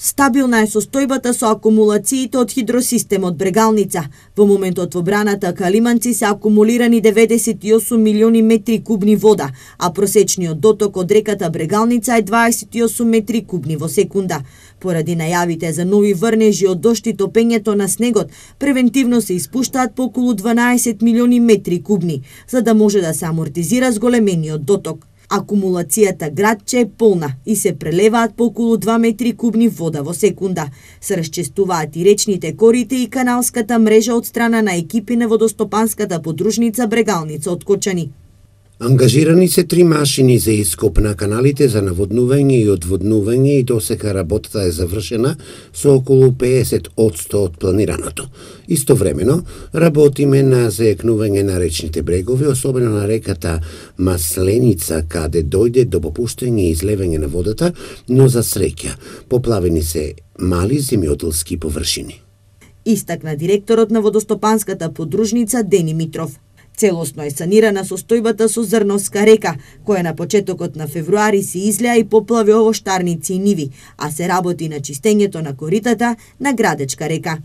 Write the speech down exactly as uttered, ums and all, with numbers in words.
Стабилна е состојбата со акумулациите од хидросистемот Брегалница. Во моментот во браната Калиманци се акумулирани деветдесет и осум милиони метри кубни вода, а просечниот доток од реката Брегалница е дваесет и осум метри кубни во секунда. Поради најавите за нови врнежи од дожд и топењето на снегот, превентивно се испуштаат по околу дванаесет милиони метри кубни, за да може да се амортизира зголемениот доток. Акумулацијата градче е полна и се прелеваат по околу два метри кубни вода во секунда. Се расчестуваат и речните корите и каналската мрежа од страна на екипи на водостопанската подружница Брегалница од Кочани. Ангажирани се три машини за ископ на каналите за наводнување и одводнување и досега работата е завршена со околу педесет одсто од планираното. Истовремено, работиме на зајакнување на речните брегови, особено на реката Масленица, каде дојде до попуштање и излевање на водата, но за среќа, поплавени се мали земјоделски површини. Истакна директорот на водостопанската подружница Дени Митров. Целосно е санирана состојбата со Зрновска река, која на почетокот на февруари се излеа и поплави овоштарници и ниви, а се работи на чистењето на коритата на Градечка река.